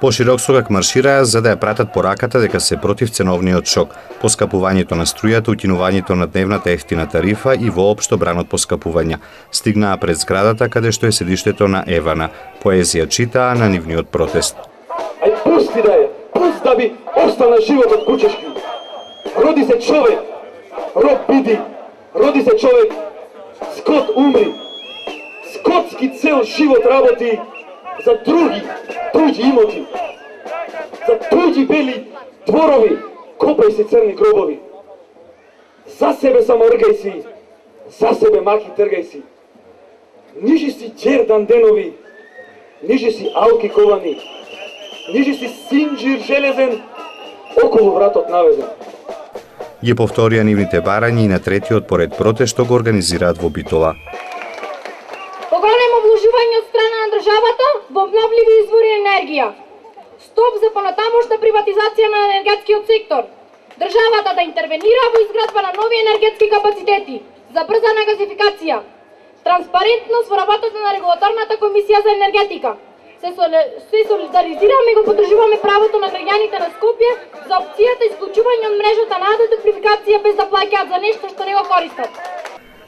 Поширок согак маршираа за да ја пратат пораката дека се против ценовниот шок, поскапувањето на струјата, укинувањето на дневната ефтина тарифа и воопшто бранот поскапувања. Стигнаа пред зградата каде што е седиштето на Евана. Поезија читаа на нивниот протест. Ај пусти да ја, пусти да би остана животот кучешки. Роди се човек, роб биди, роди се човек, скот умри. Скотски цел живот работи за туѓи имоти, за туѓи бели дворови, копај си црни гробови. За себе само ргај си, за себе маки тргај си. Нижи си џердан денови, нижи си алки ковани, нижи си синџир железен, околу вратот наведен. Ги повторија нивните барања и на третиот поред протест што го организираат во Битола. Поголемо вложување од страна на државата во обновливи извори енергија. Стоп за понатамошна приватизација на енергетскиот сектор. Државата да интервенира во изградба на нови енергетски капацитети, забрзана газификација, транспарентност во работата на регулаторната комисија за енергетика. Се солидаризираме и го поддржуваме правото на граѓаните на Скопје за опцијата исклучување од мрежата на електрификација без да плаќаат за нешто што не го користат.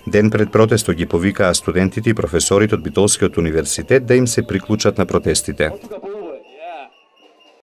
Ден пред протестот ги повикаа студентите и професорите од Битолскиот универзитет да им се приклучат на протестите.